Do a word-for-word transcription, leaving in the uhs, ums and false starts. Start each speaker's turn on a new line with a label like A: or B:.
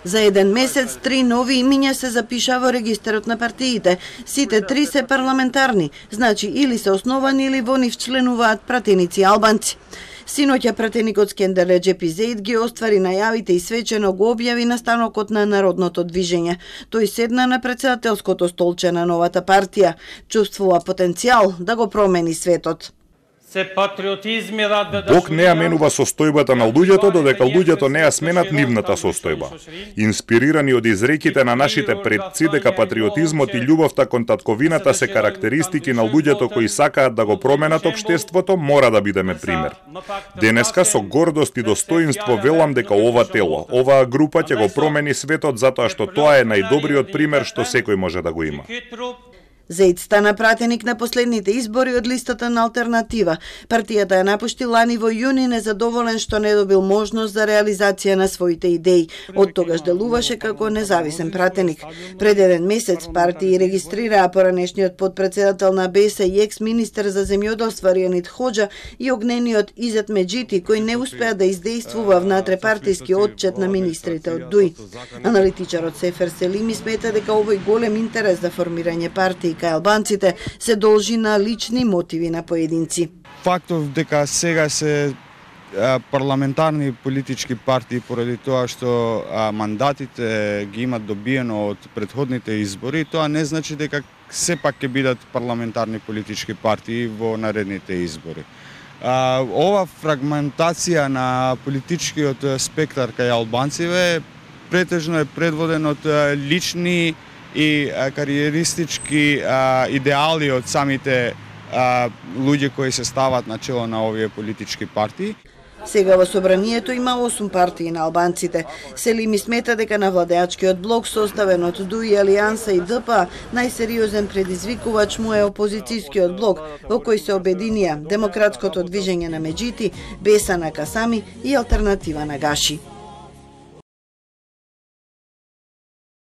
A: За еден месец три нови имиња се запиша во регистарот на партиите. Сите три се парламентарни, значи или се основани или во нив членуваат пратеници албанци. Синоќа пратеникот Скендер Реджепи Зеид ги оствари најавите и свечено го објави на станокот на Народното движење. Тој седна на претседателското столче на новата партија. Чувствува потенцијал да го промени светот.
B: Бог не ја менува состојбата на луѓето, додека луѓето не ја сменат нивната состојба. Инспирирани од изреките на нашите предци дека патриотизмот и љубовта кон татковината се карактеристики на луѓето кои сакаат да го променат општеството, мора да бидеме пример. Денеска со гордост и достоинство велам дека ова тело, оваа група ќе го промени светот затоа што тоа е најдобриот пример што секој може да го има.
A: Зеид стана пратеник на последните избори од листата на Алтернатива. Партијата ја напушти лани во јуни незадоволен што не добил можност за реализација на своите идеи. Од тогаш делуваше како независен пратеник. Пред еден месец партија регистрираа поранешниот подпредседател на Б С и екс-министер за земјоделство Ријанит Хоџа и огнениот Изет Меджити, кој не успеа да издействува внатрепартиски отчет на министрите од Дуј. Аналитичарот Сефер Селими смета дека овој голем интерес за формирање партии кај албанците се должи на лични мотиви на поединци.
C: Фактов дека сега се парламентарни политички партии поради тоа што мандатите ги имат добиено од претходните избори, тоа не значи дека сепак ќе бидат парламентарни политички партии во наредните избори. Ова фрагментација на политичкиот спектар кај албанциве претежно е предводен од лични и кариеристички а, идеали од самите а, луѓе кои се стават на чело на овие политички партии.
A: Сега во собранието има осум партии на албанците. Селими смета дека на владеачкиот блок составен од Дуј, Алијанса и Д П А најсериозен предизвикувач му е опозицијскиот блок, во кој се обединија Демократското движење на Меджити, Беса на Касами и Алтернатива на Гаши.